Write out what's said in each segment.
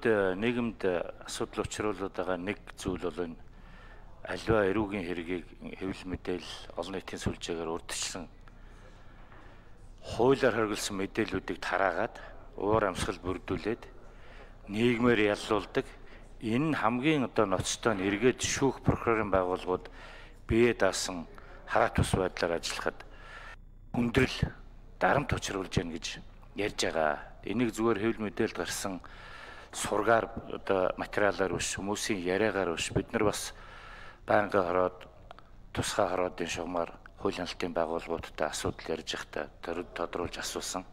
нийгэмд асуудал учруулад байгаа нэг зүйл бол энэ аливаа эрүүгийн хэргийг хэвлэл мэдээлэл олон нийтийн сүлжээгээр урьдчилсан хуулиар хоригдсон мэдээллүүдийг тараагаад уур амьсгал бүрдүүлээд нийгмээр яллуулдаг. Энэ нь хамгийн ноцтой нь эргээд шүүх прокурорын байгууллагууд бие даасан хараат тус байдлаар ажиллахад хүндрэл дарамт учруулж яана гэж ярьж байгаа. Энийг зүгээр хэвлэл мэдээлэлд гарсан сургаар материалаар биш, хүмүүсийн яриагаар биш, бид нар бас байнга хараад тусгай хараадын шугамар хууль хяналтын байгууллагуудтай асуудал ярьж байхдаа тодруулж асуусан.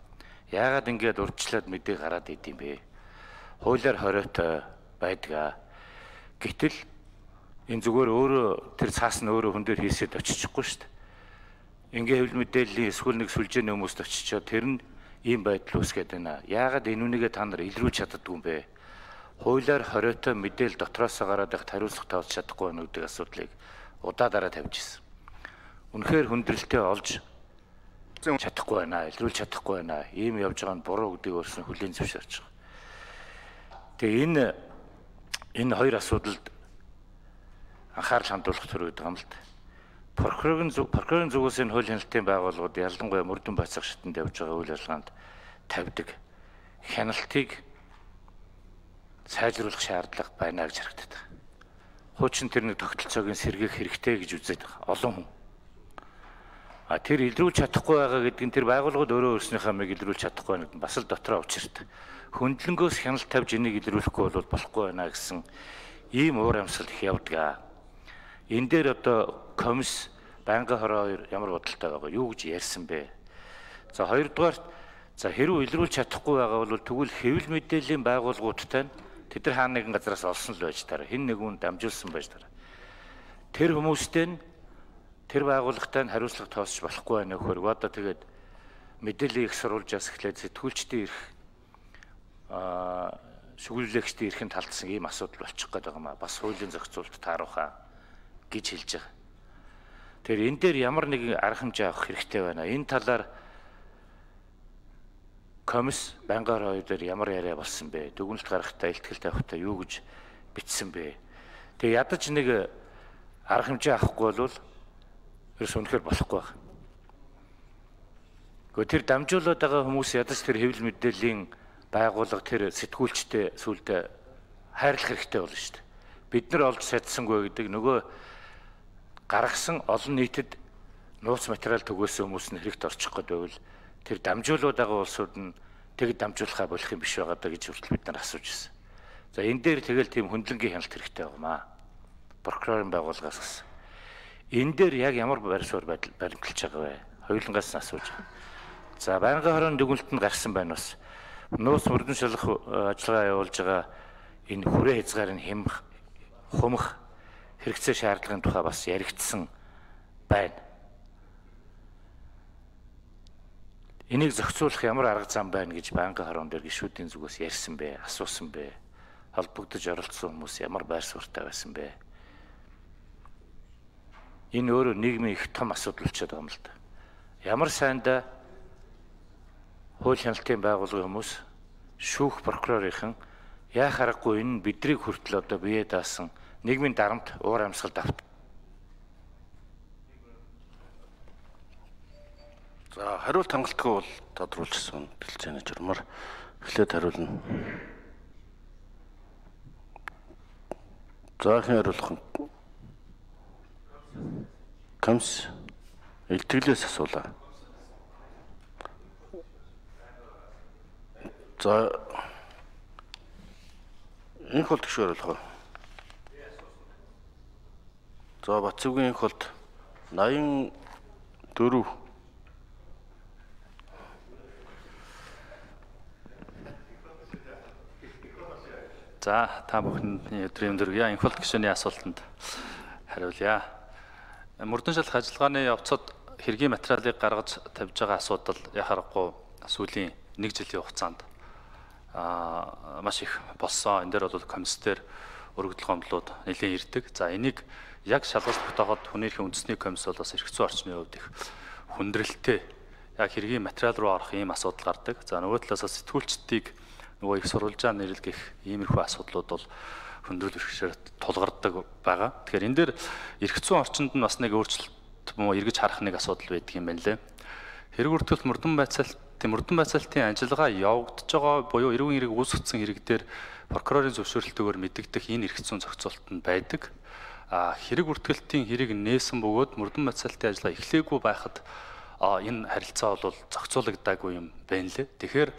Яагаад ингэж урьдчилаад мэдээ гараад идэм бэ? Хуулиар хориотой байдгаа. Гэтэл энэ зүгээр өөрөө тэр цаас нь өөрөө хүн дээр хийсэд очихгүй шүү дээ. Ингээ хэвлэл мэдээллийн эсвэл нэг сүлжээний хүмүүст очичоод тэр нь ийм байдал үүсгээд байна. Яагаад энэ үнийгээ та нар илрүүлж чаддгүй юм бэ? Хуулиар хориотой мэдээлэл дотроос гараад их хариуцлага тавьж чадахгүй байна гэдэг асуудлыг удаа дараа тавьж ирсэн. Үнэхээр хүндрэлтэй олж чадахгүй байна, илрүүлж чадахгүй байна. Ийм явж байгаа нь буруу гэдгийг өөрснөө хүлээн зөвшөөрч байгаа. Тэгээ энэ хоёр асуудалд анхаарал хандуулах төрөйд байгаа юм л да. Прокурорын зүгээс энэ хууль хяналтын байгууллагууд ялангуяа мөрдөн бацах шатанд явж байгаа үйл ажиллагаанд тавьдаг хяналтыг сайжруулах шаардлага байна гэж харагдаад байна. Хуучин тэр нэг тогтолцоог сэргээх хэрэгтэй гэж үзээд байгаа олон хүн. Тэр илрүүлж чадахгүй байгаа гэдэг нь тэр байгууллагууд өөрөө өөрснийхөө амийг илрүүлж чадахгүй байна гэдэг нь бас л дотроо учиртай. Хөндлөнгөөс хяналт тавьж энийг илрүүлэхгүй бол болохгүй байна гэсэн ийм уур амьсгал их явдаг. Энэ дээр одоо комисс байнгын хороо хоёр ямар бодолтой байгаа юу гэж ярьсан бэ? За хоёрдугаар хэрвээ илрүүлж чадахгүй байгаа бол тэгвэл хэвлэл мэдээллийн байгууллагуудтай тэд нар хаана нэгэн газараас олсон л байж таараа хэн нэгэн дамжуулсан байж таараа. Тэр хүмүүстэй нь тэр байгууллагатай нь хариуцлага тоосч болохгүй байна нөхөр. Одоо тэгээд мэдээллийг их сурвалжаас эхлээд сэтгүүлчдийн ирэх шүглүүлэгчдийн эрхэнд талдсан ийм асуудал болчих гээд байгаа маа. Бас хуулийн зохицуулалт тааруулахаа гэж хэлж байгаа. Тэгэхээр энэ дээр ямар нэгэн арга хэмжээ авах хэрэгтэй байна. Энэ талаар комисс байнгын хоёр дээр ямар яриа болсон бэ? Дүгнэлт гаргахтаа, илтгэл тавихтаа юу гэж бичсэн бэ? Тэгээ ядаж нэг арга хэмжээ авахгүй бол ерөөс үнэхээр болохгүй байна. Гэхдээ тэр дамжуулаад байгаа хүмүүс ядаж тэр хэвлэл мэдээллийн байгууллага тэр сэтгүүлчтэй сүулдэ хайрлах хэрэгтэй болно шүү дээ. Бид нар олж чадсангүй гэдэг нөгөө гаргасан олон нийтэд нууц материал төгөөсөн хүмүүс нь хэрэгт орчих гээд байвал тэр дамжуулаад байгаа улсууд нь тэгэд дамжуулахаа болох юм биш байгаа даа гэж хүртэл бид нар асууж ирсэн. За энэ дээр тэгэл тийм хөндлөнгийн хяналт хэрэгтэй байгаамаа. Прокурорын байгууллагаас гисэн. Энэ дээр яг ямар байр суурь баримталж байгаа вэ? Хоёулангаас нь асууж байгаа. За байнгын хорооны дүгнэлтэнд гарсан байна бас. Нууц мөрдөн шалгах ажиллагаа явуулж байгаа энэ хүрээ хязгаарыг хумах хэрэгцээ шаардлагын тухай бас яригдсан байна. Энийг зохицуулах ямар арга зам байна гэж байнгын хороонд дээр гишүүдийн зүгээс ярьсан бэ, асуусан бэ. Холбогдож оролцсон хүмүүс ямар байр суурьтай байсан бэ? Энэ өөрөө нийгмийн их том асуудал болчиход байгаа юм л да. Ямар сайндаа хууль хяналтын байгууллагын хүмүүс шүүх прокурорынхан яах аргагүй энэ бидрийг хүртэл одоо бие даасан нийгмийн дарамт уур амьсгалд авт. За хариулт хангалтгүй бол тодруулчихсан бэлчээний журмаар эхлээд хариулна. За хэн хариулах нь? Комисс илтгэлээс асуулаа. За энэ холд гişүү хариулах уу? За Батцүгийн холд 84. За та бүхний өдрийн өндөрлөе. Инх холд гишүүний асуултанд хариулъя. Мөрдөн шалгах ажиллагааны явцад хэргийн материалыг гаргаж тавьж байгаа асуудал яхахгүй сүүлийн 1 жилийн хугацаанд маш их болсон. Энэ дээр бол комиссээр өргөдөл гомдлууд нэлээд ирдэг. За энийг яг шалгалт тогтооход хүний эрхийн үндэсний комисс бол бас эрх зүйн орчны хувьд их хүндрэлтэй яг хэргийн материал руу орох ийм асуудал гардаг. За нөгөө талаас сэтгүүлчдийг нөгөө их сурвалжаа нэрлэх иймэрхүү асуудлууд бол хөндрөл бэрхшээр тулгардаг байгаа. Тэгэхээр энэ дээр эрх зүйн орчинд нь бас нэг өөрчлөлт муу эргэж харах нэг асуудал байдаг юм байна лээ. Хэрэг үртгэлт мөрдөн байцаалтын ажиллагаа явагдаж байгаа буюу эрүүн хэрэг үүсгэсэн хэрэг дээр прокурорын зөвшөөрлөлтөөр мэдэгдэх энэ эрх зүйн зохицуулалт нь байдаг. Хэрэг үртгэлтийн хэрэг нээсэн бөгөөд мөрдөн байцаалтын ажиллагаа эхлээгүй байхад энэ харилцаа бол зохицуулагдаагүй юм байна лээ. Тэгэхээр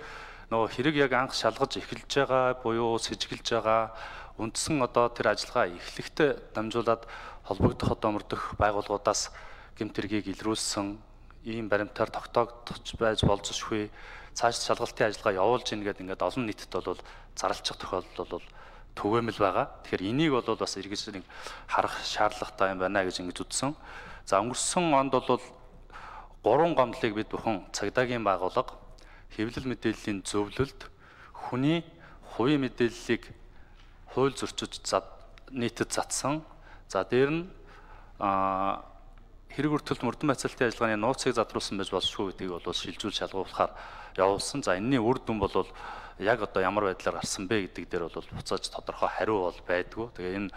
нөгөө хэрэг яг анх шалгаж эхэлж байгаа буюу сэжиглэж байгаа үндсэн одоо тэр ажиллагаа эхлэхдээ дамжуулаад холбогдох мөрдөх байгууллагуудаас гэмт хэргийг илрүүлсэн ийм баримтаар тогтоогдож байж болзошгүй цааш шалгалтын ажиллагаа явуулж ийн гэдэг ингээд олон нийтэд бол зарлчих тохиолдол бол түгээмэл байгаа. Тэгэхээр энийг бол бас эргэж нэг харах шаардлагатай юм байна гэж ингэж үзсэн. За өнгөрсөн онд бол 3 гомдлыг бид бүхэн цагдаагийн байгууллага хэвлэл мэдээллийн зөвлөлд хүний хувийн мэдээллийг хууль зөрчиж нийтэд затсан. За дээр нь хэрэг үртгэлт мөрдөн байцаалтын ажиллагааны нууцыг задруулсан байж болшгүй гэдгийг бол шилжүүл шалгуулахаар явуулсан. За энэний үр дүн бол яг одоо ямар байдлаар гарсан бэ гэдэг дээр бол буцааж тодорхой хариу бол байдгүй. Тэгээ энэ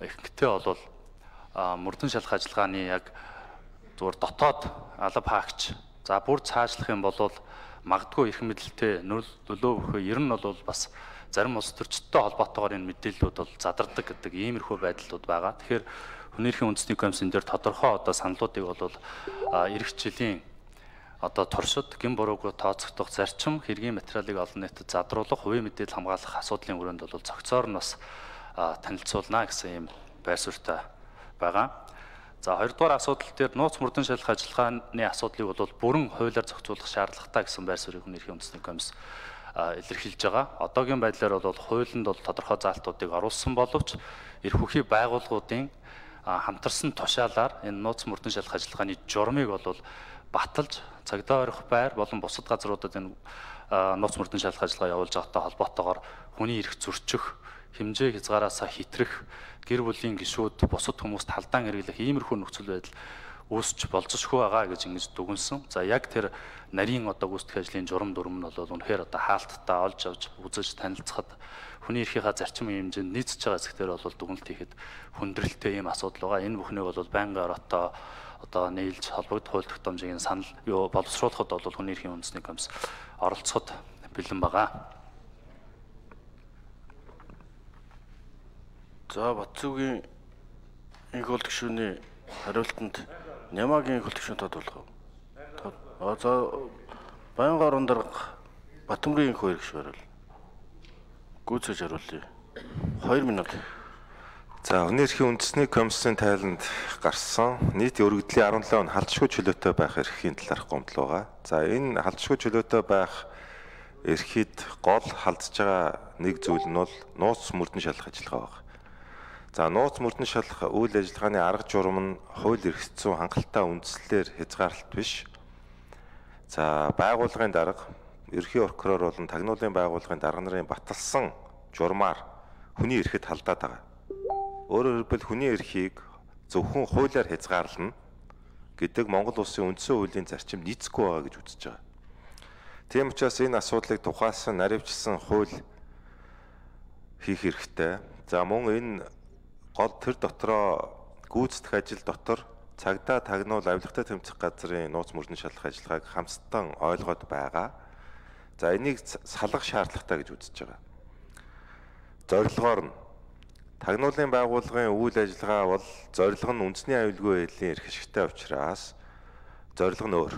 ихэнхдээ бол мөрдөн шалгах ажиллагааны яг зүгээр дотоод алба хаагч за бүр цаашлах юм бол магадгүй эрх мэдэлтэй нөлөө өгөх ер нь бол бас зарим улс төрчдтэй холбоотойгоор энэ мэдээллүүд бол задардаг гэдэг иймэрхүү байдлууд байгаа. Тэгэхээр Хүний эрхийн үндэсний комиссийн дээр тодорхой одоо саналуудыг бол эх жилийн одоо туршид гин буруугүй тооцогдох зарчим хэргийн материалыг олон нийтэд задруулах, хувийн мэдээлэл хамгаалах асуудлын хүрээнд бол зохицоор нь бас танилцуулна гэсэн юм байр суурьтай байгаа. За хоёрдугаар асуудал дээр нууц мөрдөн шалгах ажиллагааны асуудлыг бол бүрэн хуулиар зохицуулах шаардлагатай гэсэн байр суурийг Хүний эрхийн үндэсний комисс илэрхийлж байгаа. Одоогийн байдлаар бол хуулинд бол тодорхой заалтуудыг оруулсан боловч эрх үхий байгууллагуудын хамтарсан тушаалаар энэ нууц мөрдөн шалгах ажиллагааны журмыг бол баталж цагдаа орох байр болон бусад газруудад энэ нууц мөрдөн шалгах ажиллагаа явуулж байгаатай холбоотойгоор хүний эрх зөрчих, хэмжээ хязгаараасаа хитрэх, гэр бүлийн гишүүд бусад хүмүүст халдаан хэрэглэх иймэрхүү нөхцөл байдал үүсч болцсохгүй байгаа гэж ингэж дүгнсэн. За яг тэр нарийн одоо гүйцэтгэх ажлын журам дүрм нь бол үнэхээр одоо хаалттай олж авч үзэж танилцахад хүний эрхийнхаа зарчим хэмжээнд нийцэж байгаа хэсгээр бол дүгнэлт хийхэд хүндрэлтэй ийм асуудал байгаа. Энэ бүхнийг бол байнгын ороотоо одоо нийлж холбогдох хууль тогтоомжийн санал боловсруулахад бол Хүний эрхийн үндэсний комисс оролцоход бэлэн байгаа. За Батцуугийн их хууль гишүүний хариултанд Нямаагийн их хууль гишүүн тодруулах. За Баянгын орон дарга Батөмрийн их хууль гишүүн хариул. Гүйцэж хариулъя. 2 минут. За Хүний эрхийн үндэсний комиссийн тайланд гарсан нийт өргөдлийн 17 он халдшгүй чөлөөтэй байх эрхийн талаарх гомдол байгаа. За энэ халдшгүй чөлөөтэй байх эрхийд гол халдж байгаа нэг зүйл нь бол нууц мөрдөн шалгах ажиллагаа байна. За нууц мөрдөн шалгах үйл ажиллагааны арга журам нь хууль эрх зүйн хангалттай үндслэлээр хязгаарлалт биш. За байгууллагын дарга ерхий прокурор болон тагнуулын байгууллагын дарга нарын баталсан журмаар хүний эрхэд халдаад байгаа. Өөрөөр хэлбэл хүний эрхийг зөвхөн хуулиар хязгаарлана гэдэг Монгол улсын үндсэн хуулийн зарчим нийцэхгүй байгаа гэж үзэж байгаа. Тийм учраас энэ асуудлыг тухайлсан наривчилсан хууль хийх хэрэгтэй. За мөн энэ гол төр дотроо гүйцэтгэх ажил дотор цагдаа тагнуул авилгатай тэмцэх газрын нууц мөрдөн шалгах ажиллагааг хамтдан ойлгоод байгаа. За энийг салгах шаардлагатай гэж үзэж байгаа. Зорилгоор нь тагнуулын байгууллагын үйл ажиллагаа бол зорилго нь үндэсний аюулгүй байдлын эрх ашигтай учраас зорилго нь өөр.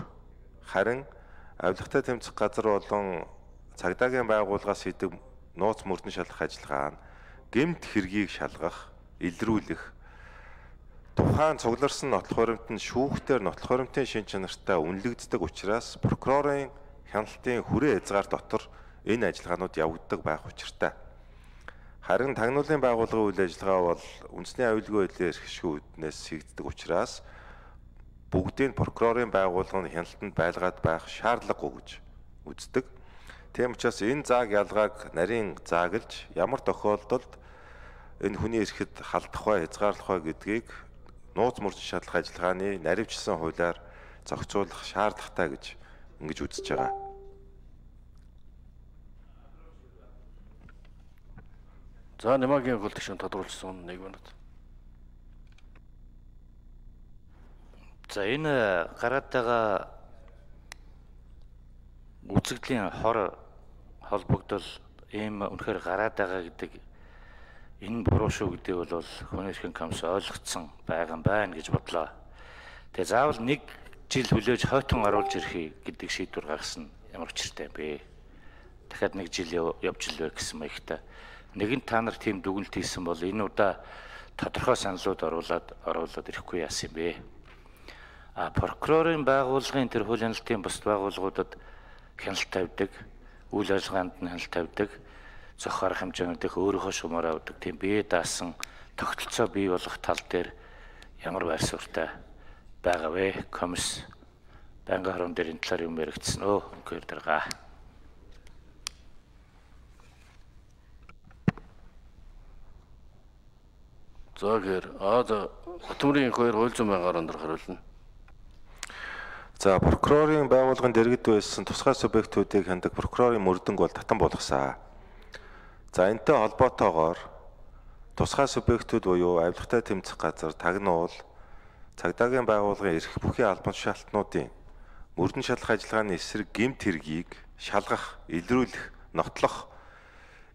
Харин авилгатай тэмцэх газар болон цагдаагийн байгууллагаас хийдэг нууц мөрдөн шалгах ажиллагаа нь гэмт хэргийг шалгах, илрүүлэх, тухайн цугларсан нотлох баримтанд шүүхтээр нотлох баримтын шин чанартай үнэлэгддэг учраас прокурорын хяналтын хүрээ хязгаар дотор энэ ажиллагаанууд явагддаг байх учиртай. Харин тагнуулын байгууллагын үйл ажиллагаа бол үндэсний аюулгүй байдлын эрх шүүднээс хийгддэг учраас бүгдийг прокурорын байгууллагын хяналтанд байлгаад байх шаардлагагүй гэж үздэг. Тийм учраас энэ зааг ялгааг нарийн зааглаж ямар тохиолдолд энэ хүний эрхэд халдах бай, хязгаарлах бай гэдгийг нууц мөрдөн шалгах ажиллагааны наривчилсан хуулиар зохицуулах шаардлагатай гэж ингэж үзэж байгаа. За Нямаагийн хөл төвшин тодруулсан 1 минут. За энэ гараад байгаа үзэгдлийн хор холбогдол ийм үнэхээр гараад байгаа гэдэг энэ буруу шүү гэдэг бол хүний эрхийн комисс ойлгоцсон байгаа юм байна гэж бодлоо. Тэгээ заавал 1 жил хүлээж хойтон оруулж ирэх гэдэг шийдвэр гаргасан ямар учиртай бэ? Дахиад 1 жил явж илвэ гэсэн маягтай. Нэгэн та нар тийм дүгнэлт хийсэн бол энэ удаа тодорхой саналууд оруулаад ирэхгүй яасан юм бэ? Прокурорын байгууллагын тэр хууль хяналтын бусад байгууллагуудад хяналт тавьдаг, үйл ажиллагаанд нь хяналт тавьдаг, зохих арга хэмжээнүүдийг өөрийнхөө шумаар авдаг тийм бие даасан тогтолцоо бий болгох тал дээр ямар байр суурьтай байгаа вэ? Комисс байнгын хорон дээр энэ талаар юм яригдсан өө үнхээр дарга. За гэр Батмүрийн 2 хууль зүйн байнгын хорон дээр хариулна. За прокурорын байгууллагын дэргэд байсан тусгай субъектүүдийг хяндаг прокурорын мөрдөнг бол татан болгосон. За энэтэй холбоотойгоор тусгай субъектүүд буюу авилгатай тэмцэх газар, тагнуул, цагдаагийн байгууллагын эрх бүхий албан тушаалтнуудын мөрдөн шалах ажиллагааны эсрэг гэмт хэргийг шалгах, илрүүлэх, нотлох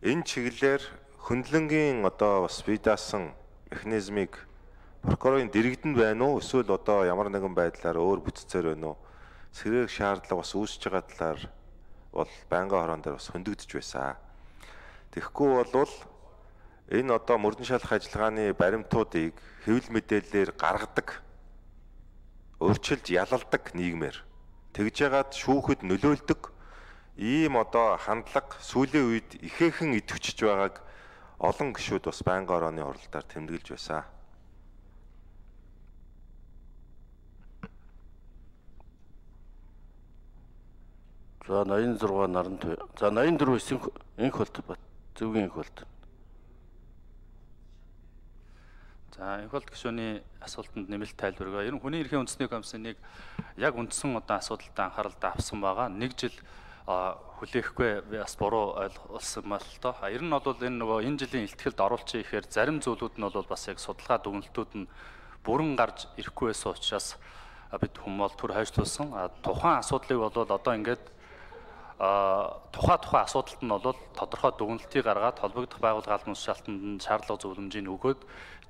энэ чиглэлээр хөндлөнгийн бас бие даасан механизмыг прокурорын дэргэдэнд байна уу эсвэл ямар нэгэн байдлаар өөр бүтцээр байна уу? Сэргээх шаардлага бас үүсэж байгаа талаар бол байнгын хорон дээр бас хөндөгдөж байсан. Тэгэхгүй бол энэ мөрдөн шалах ажиллагааны баримтуудыг хэвлэл мэдээллээр гаргадаг, өөрчилж ялалдаг нийгмээр тэгж яагаад шүүхэд нөлөөлдөг ийм хандлага сүүлийн үед ихээхэн идэвхжиж байгааг олон гишүүд бас байнгын хорооны хуралдаар тэмдэглэж байсан. За 86 Нарант. За 84 энх болт зөвгийн энх болт. За энх болт гишүүний асуултанд нэмэлт тайлбар өгөө. Ер нь хүний эрхийн үндэсний комиссыг яг үндсэн асуудалтай анхааралтай авсан байгаа. 1 жил хүлээхгүй бас буруу ойлгуулсан мал тоо. Ер нь бол энэ жилийн илтгэлд оруулчих ихээр зарим зүйлүүд нь бол бас яг судалгаа дүгнэлтүүд нь бүрэн гарч ирэхгүй байсан учраас бид хүмүүс түр хойшлуулсан. Тухайн асуудлыг бол ингээд тухайн асуудалт нь бол тодорхой дүгнэлтийг гаргаад холбогдох байгууллага албан тушаалтанд шаардлага зөвлөмжийг өгөөд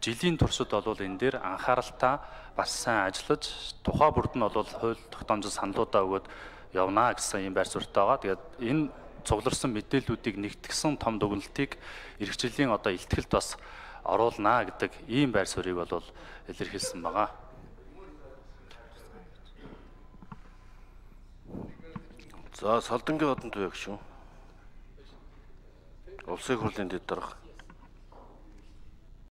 жилийн туршид бол энэ дээр анхааралтай бас сайн ажиллаж тухайн бүрд нь бол хууль тогтоомжит саналуудаа өгөөд явна гэсэн юм байр суурьтай байгаа. Тэгээд энэ цугларсан мэдээллүүдийг нэгтгэсэн том дүгнэлтийг эрхчлэлийн илтгэлд бас оруулна гэдэг ийм байр суурийг бол илэрхийлсэн байгаа. За Салдангийн одон туяг шүү. Улсын хурлын дэд дарга.